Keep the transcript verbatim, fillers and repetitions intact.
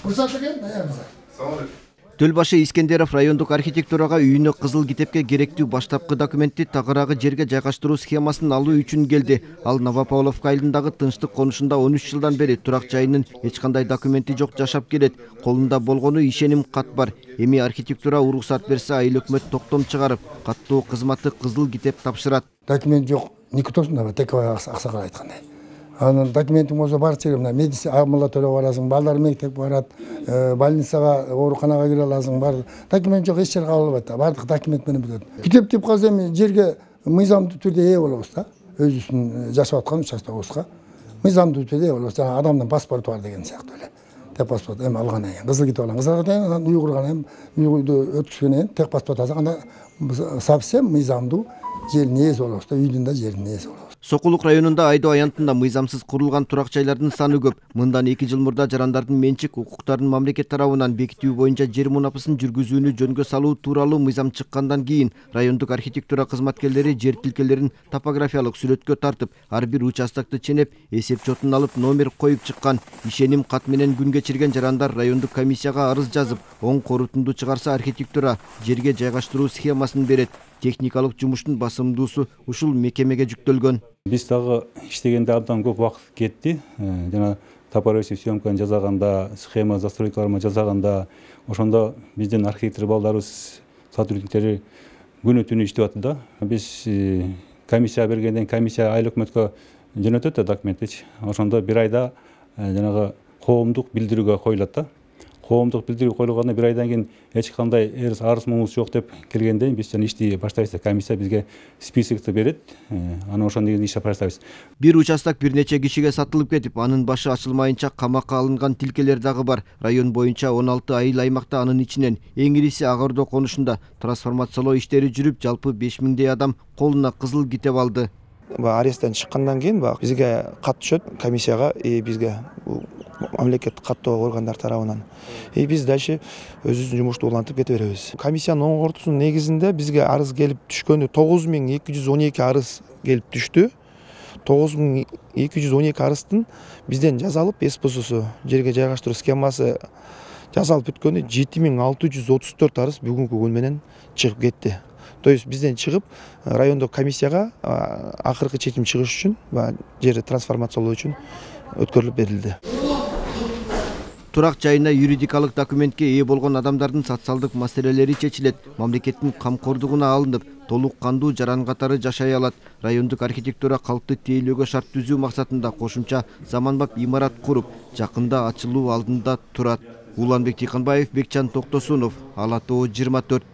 уруксат экен, даярбыз. Төлбашы Искендеров райондук архитектурага үйүнө кызыл китепке керектүү баштапкы документти тагыраагы жерге жайгаштыруу схемасын алуу үчүн келди. Ал Новопавловка айылындагы тынчтык конушунда он үч жылдан бери турак жайынын эч кандай документи жок жашап келет. Колунда болгону ишеним кат бар. Эми архитектура уруксат берсе, айыл өкмөт токтом чыгарып, каттоо кызматы кызыл китеп тапшырат. Документ жок, никтосунда Текебай аксакал айткандай. Анын документин болсо бар жерге мына медицина амала төлөп аласың, балдар мектепке барат, больницага, ооруканага кире аласың, бар. Документ жок, эч жерге кабыл албайт. Бардык документ менен бүтөт. Китеп деп каза эми жерге мыйзамдуу түрдө ээ болобуз да. Өзүбүздүн жашап аткан участогубузга мыйзамдуу түрдө ээ болобуз. Жана адамдын паспорту бар деген сыяктуу эле. Тек паспорт эми алгандан кийин кызыл китеп алган. Кызыл китеп анан уйгурган эми уйгурду өткүзгөндөн кийин тек паспорт алсак, анда совсем мыйзамдуу жердин ээси болобуз да, үйдүн да жердин ээси болобуз. Сокулук районунда Айдоо аянтында мыйзамсыз курулган турак жайлардын саны көп. Мындан эки жыл мурда жарандардын менчик укуктарын мамлекет тарабынан бекитүү боюнча жер мунапасын жүргүзүүнү жөнгө салуу тууралуу мыйзам чыккандан кийин райондук архитектура кызматкерлери жер тилкелерин топографиялык сүрөткө тартып, ар бир участокты ченеп, эсеп чотун алып, номер коюп чыккан. Ишеним кат менен күн кечирген жарандар райондук комиссияга арыз жазып, оң корутунду чыгарса архитектура жерге жайгаштыруу схемасын берет. Техникалык жумуштун басымдуусу ушул мекемеге жүктөлгөн. Биз дагы иштегенде абдан көп убакыт кетти. Жана топография съемканы жасаганда, схема застройкаларын жасаганда, ошондо биздин архитектор балдарыбыз, сотрудниктери күнү түнү иштеп атты да. Биз комиссия бергенден комиссия айыл өкмөткө жөнөтөт да документти. Ошондо бир айда жанагы коомдук билдирүүгө коюлат да. Коомдук билдирүү коюлгандан бир айдан кийин эч кандай арыз муңубуз жок деп келгенде биз жана ишти баштайбыз. Комиссия бизге списокты берет. Аны ошондон кийин ишти баштайбыз. Бир участок бир нече кишиге сатылып кетип, анын башы ачылмайынча камакка алынган тилкелер дагы бар. Район боюнча он алты айыл аймакта, анын ичинен эң ириси Ак Ордо конушунда трансформациялоо иштери жүрүп, жалпы беш миңдей адам колуна кызыл китеп алды. Аресттен чыккандан кийин бизге кат түшөт комиссияга, бизге мамлекеттик каттоо органдар тарабынан. И биз дальше өзүбүздүн жумушту улантып кете беребиз. Комиссиянын оң кортусунун негизинде бизге арыз келип түшкөнү тогуз миң эки жүз он эки арыз келип түштү. тогуз миң эки жүз он эки арыздын бизден жазалып, эспосусу жерге жайгаштыруу схемасы жазалып бүткөнү жети миң алты жүз отуз төрт арыз бүгүнкү күн менен чыгып кетти. То есть бизден чыгып райондук комиссияга акыркы чечим чыгыш үчүн, жерди трансформациялоо үчүн өткөрүлүп берилди. Турак жайына юридикалык документке ээ болгон адамдардын социалдык маселелери чечилет. Мамлекеттин камкордугуна алынып, толук кандуу жаран катары жашай алат. Райондук архитектура калкты тейлөөгө шарт түзүү максатында кошумча заманбап имарат куруп, жакында ачылуу алдында турат. Уланбек Тыйканбаев, Бекчан Токтосунов, Ала Тоо жыйырма төрт.